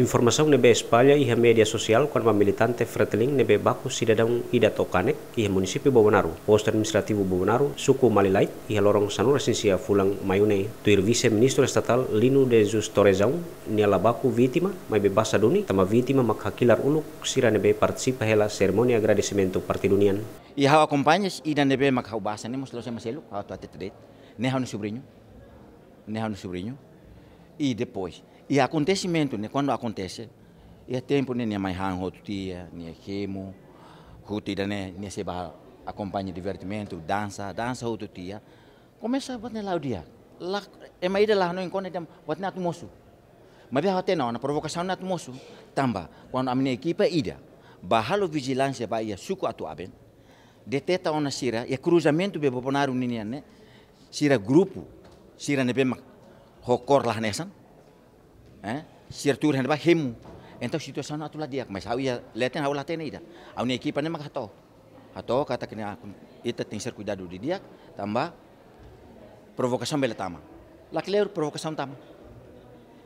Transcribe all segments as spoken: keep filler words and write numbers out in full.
Informasaun ne'ebé espalla iha média sosiál kona-ba militante Fretilin ne'ebé baku sidadaun ida to'o kanek iha munisípiu Bobonaro, postu administrativu Bobonaro, suku Malilait, iha loron sanulu-resin-sia fulan Maiu ne'e, tuir Vise-Ministru Estatál Lino de Jesus Torrejão, nia la baku vítima, maibé basa duni, tanba vítima mak hakilar uluk sira ne'ebé partisipa hela serimónia agradesimentu partidu nian. I ha'u akompaña ida ne'ebé mak ha'u basa ne'e mós la'ós ema seluk, ha'u atu hatete de'it. Ne'e ha'u-nia subriñu. Ne'e ha'u-nia subriñu. I depois, i akontesimentu ne'e kuandu akontese, iha tempu ne'e nia mai han hotu tiha, nia hemu, hotu ida-ne'e, nia sei bá akompaña divertimentu, dansa, dansa hotu tiha. Komesa buat ne'e la'o di'ak. La, ema ida la hanoin kona-ba buat ne'e atu mosu. Maibé ha'u hatene ona provokasaun ne'e atu mosu. Tanba, kuandu ami-nia ekipa ida bá halo vijilánsia ba iha suku Atuaben, deteta ona sira iha kruzamentu be Bobonaro ninian ne'e, sira grupu, sira ne'ebé mak ho kór la hanesan, eh, sira tuur iha ne'ebá hemu. Entaun situasaun atu la di'ak, mas ha'u iha leten ha'u la hatene ida. Ha'u-nia ekipa ne'e mak hato'o. Hato'o katak ne'e ita tenke ser kuidadu didi'ak, tanba provokasaun bele tama. La kleur provokasaun tama.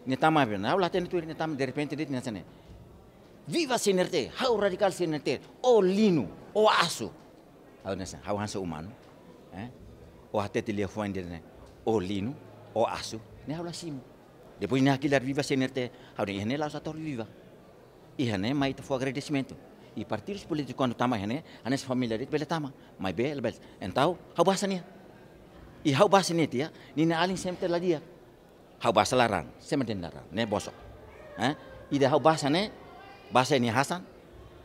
Nia tama be, ha'u la hatene tuir nia tama, derrepente de'it nia hanesan ne'e: "Viva C N R T, ha'u radikál C N R T, ó Lino, ó asu." Ha'u hanesan, ha'u hanesan umanu, eh? Ó hatete liafuan ida-ne'e, ó Lino, ó asu, ne'e ha'u la simu. Depois nia hakilar viva C N R T, ha'u dehan iha ne'e la'ós hato'o viva. Iha ne'e mai ita fó agradesimentu. I partidus polítiku kuandu tama iha ne'e, hanesan família de'it bele tama, maibé labele. Entaun, ha'u basa nia. I ha'u basa nia tiha, ninia alin sente la di'ak. Ha'u basa laran, sente la di'ak, ne'e bosok. Eh? Ida ha'u basa ne'e, basa nia hanesan,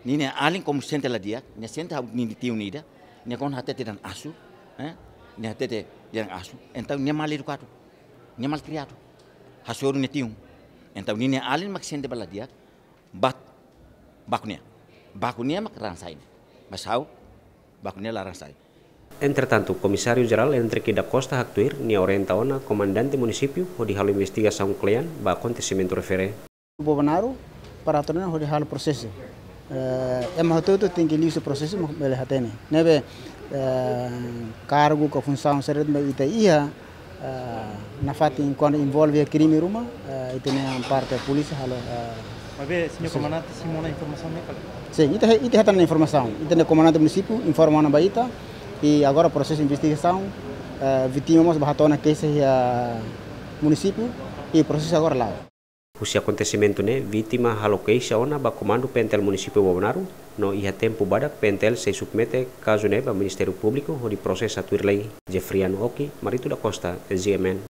ninia alin komu sente la di'ak, nia sente ha'u ninia tiun ida, nia kuandu hatete dehan asu, eh? Nia hatete dehan asu, entaun nia mal edukadu, nia mal kriadu. Hasoru nia tiun. Entaun ninia alin mak sente ba la di'ak, bá, baku nia. Baku nia mak raan sai ne'e. Mas ha'u, baku nia laran sai. Entretantu, Komisáriu Jerál Endrick da Costa haktuir, nia orienta ona komandante munisípiu hodi halo investigasaun kle'an ba akontesimentu refere. Bobonaro, para atu nune'e hodi halo prosesu. Eh, ema hotu-hotu tenke liuhusi prosesu mak bele hatene. Ne'ebé, eh, kargu ka funsaun sira ne'ebé ita iha, eh, nafatin kuandu envolve iha krime ruma, eh, ita-nia parte polísia halo, eh, maibé, señór komandante, simu ona informasaun ne'e ka lae? Sin, ita he-, ita hetan informasaun. Ita-nia komandante munisípiu informa ona ba ita. I agora prosesu investigasaun, eh, vítima mós bá hato'o ona keixa iha munisípiu. I prosesu agora la'o. Husi akontesimentu ne'e, vítima halo keixa ona ba komandu P N T L munisípiu Bobonaro, no iha tempu badak P N T L sei submete kazu ne'e ba Ministériu Públiku hodi prosesa tuir lei. Jeffriano Oki, Marito da Costa, G M N.